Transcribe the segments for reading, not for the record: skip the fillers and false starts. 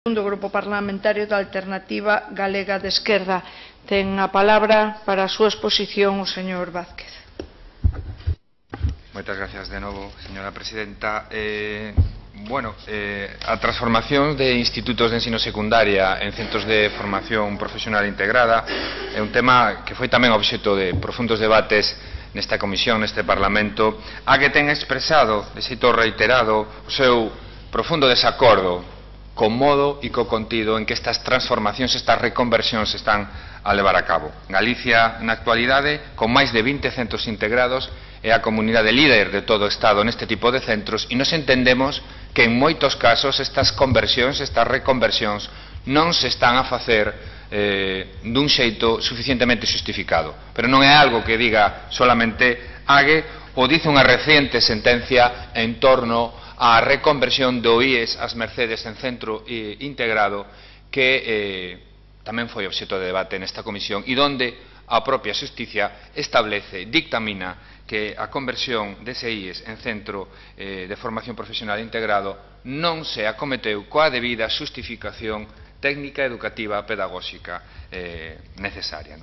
do Grupo Parlamentario da Alternativa Galega de Esquerda. Ten a palabra para a súa exposición o señor Vázquez. Moitas gracias de novo, señora presidenta. A transformación de institutos de ensino secundaria en centros de formación profesional integrada é un tema que foi tamén obxecto de profundos debates nesta comisión, neste Parlamento, a que ten expresado de xeito reiterado o seu profundo desacordo co modo e co contido en que estas transformacións, estas reconversións están a levar a cabo. Galicia, na actualidade, con máis de 20 centros integrados, é a comunidade líder de todo o Estado neste tipo de centros e nos entendemos que en moitos casos estas conversións, estas reconversións, non se están a facer dun xeito suficientemente xustificado. Pero non é algo que diga solamente AGE, o dice unha reciente sentencia en torno a reconversión do IES ás Mercedes en centro integrado que tamén foi obxecto de debate nesta comisión e donde a propia xusticia establece, dictamina que a conversión dese IES en centro de formación profesional integrado non se acometeu coa debida xustificación técnica, educativa, pedagóxica necesaria.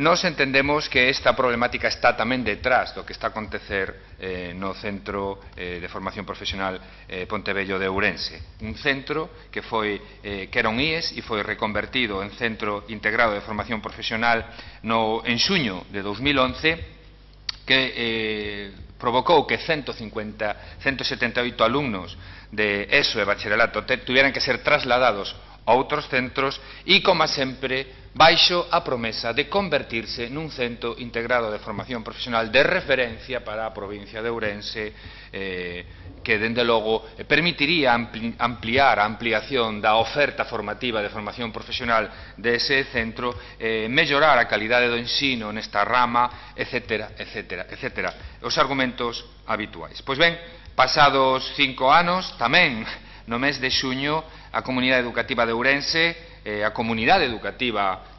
Nós entendemos que esta problemática está tamén detrás do que está a acontecer no Centro de Formación Profesional Pontebello de Ourense. Un centro que era un IES e foi reconvertido en Centro Integrado de Formación Profesional en xuño de 2011, que provocou que 178 alumnos de ESO e bacharelato tuvieran que ser trasladados a outros centros e, como sempre, baixo a promesa de convertirse nun centro integrado de formación profesional de referencia para a provincia de Ourense, que, dende logo, permitiría ampliar a ampliación da oferta formativa de formación profesional dese centro, mellorar a calidade do ensino nesta rama, etc., etc., etc. Os argumentos habituais. Pois ben, pasados 5 anos, tamén no mes de xuño, a Comunidade Educativa de Ourense, a Comunidade Educativa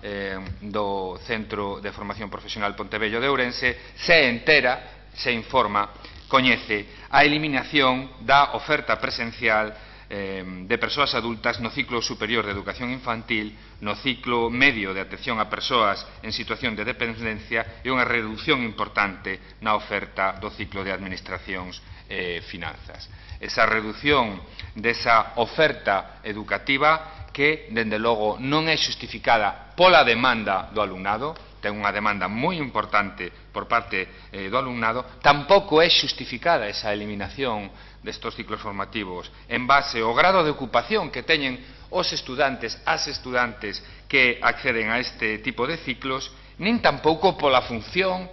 do Centro de Formación Profesional Pontebello de Ourense, se entera, se informa, coñece a eliminación da oferta presencial de persoas adultas no ciclo superior de educación infantil, no ciclo medio de atención a persoas en situación de dependencia e unha reducción importante na oferta do ciclo de administracións e finanzas. Esa reducción desa oferta educativa que, dende logo, non é xustificada pola demanda do alumnado, ten unha demanda moi importante por parte do alumnado, tampouco é xustificada esa eliminación destos ciclos formativos en base ao grado de ocupación que teñen os estudantes, as estudantes que acceden a este tipo de ciclos, nin tampouco pola función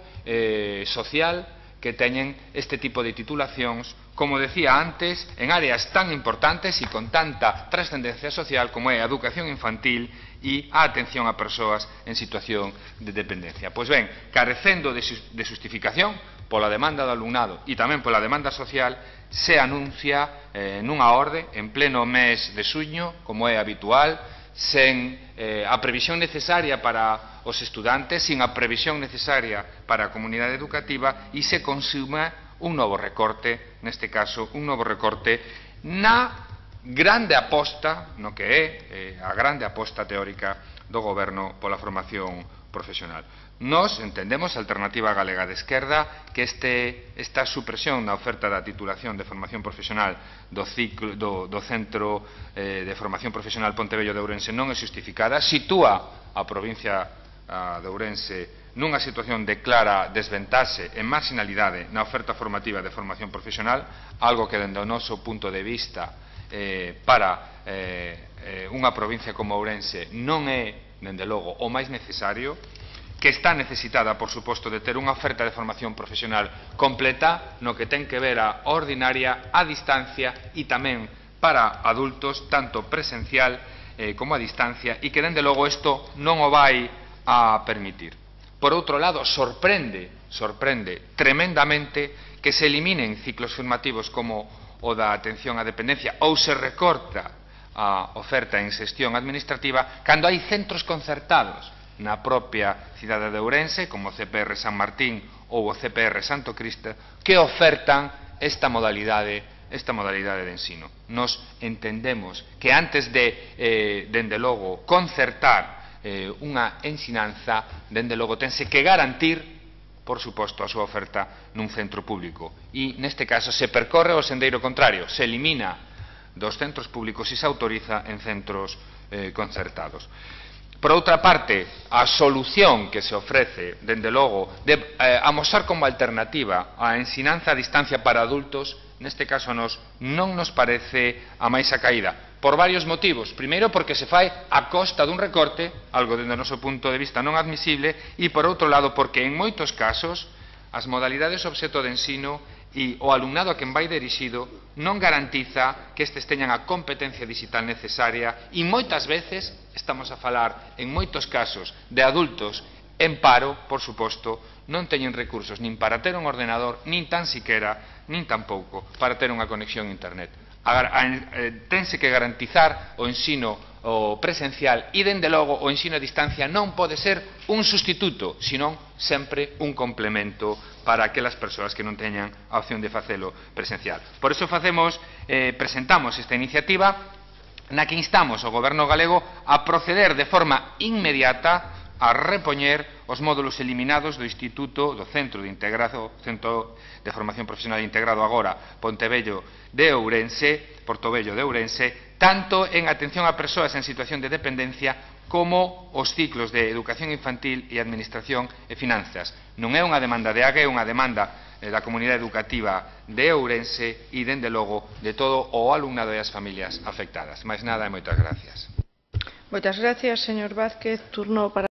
social que teñen este tipo de titulacións, como decía antes, en áreas tan importantes e con tanta trascendencia social como é a educación infantil e a atención a persoas en situación de dependencia. Pois ben, carecendo de xustificación pola demanda do alumnado e tamén pola demanda social, se anuncia nunha orde en pleno mes de xuño, como é habitual, sen a previsión necesaria para os estudantes, sin a previsión necesaria para a comunidade educativa, e se consuma un novo recorte, neste caso, un novo recorte na grande aposta, no que é a grande aposta teórica do Goberno pola formación profesional. Nós entendemos, a Alternativa Galega de Esquerda, que esta supresión na oferta da titulación de formación profesional do Centro de Formación Profesional Pontebello de Ourense non é justificada, sitúa a provincia de Ourense nunha situación de clara desventaxe e marginalidade na oferta formativa de formación profesional, algo que, dende o noso punto de vista, para unha provincia como Ourense non é, dende logo, o máis necesario, que está necesitada, por suposto, de ter unha oferta de formación profesional completa no que ten que ver a ordinaria, a distancia e tamén para adultos, tanto presencial como a distancia, e que, dende logo, isto non o vai a permitir. Por outro lado, sorprende tremendamente que se eliminen ciclos formativos como o da atención á dependencia ou se recorta a oferta en xestión administrativa cando hai centros concertados na propia cidade de Ourense, como o CPR San Martín ou o CPR Santo Cristo, que ofertan esta modalidade esta modalidade de ensino. Nos entendemos que antes de, dende logo, concertar unha ensinanza, dende logo, tense que garantir, por suposto, a súa oferta nun centro público. E, neste caso, se percorre o sendeiro contrario, se elimina dos centros públicos e se autoriza en centros concertados. Por outra parte, a solución que se ofrece, dende logo, de amosar como alternativa a ensinanza a distancia para adultos, neste caso non nos parece a máis acaída, por varios motivos. Primeiro, porque se fai a costa dun recorte, algo dende o noso punto de vista non admisible, e por outro lado, porque en moitos casos as modalidades obxecto de ensino e o alumnado a quen vai dirixido non garantiza que estes teñan a competencia digital necesaria e moitas veces estamos a falar en moitos casos de adultos en paro, por suposto, non teñen recursos nin para ter un ordenador, nin tan siquera, nin tampouco para ter unha conexión a internet. Tense que garantizar o ensino presencial e, dende logo, o ensino a distancia non pode ser un sustituto, senón sempre un complemento para aquelas persoas que non teñan a opción de facelo presencial. Por iso presentamos esta iniciativa na que instamos ao Goberno galego a proceder de forma inmediata a repoñer os módulos eliminados do Instituto do Centro de Formación Profesional Integrado agora Portobello de Ourense, tanto en atención a persoas en situación de dependencia como os ciclos de educación infantil e administración e finanzas. Non é unha demanda de AGE, é unha demanda da comunidade educativa de Ourense e, dende logo, de todo o alumnado e as familias afectadas. Máis nada e moitas gracias. Moitas gracias, señor Vázquez. Turno para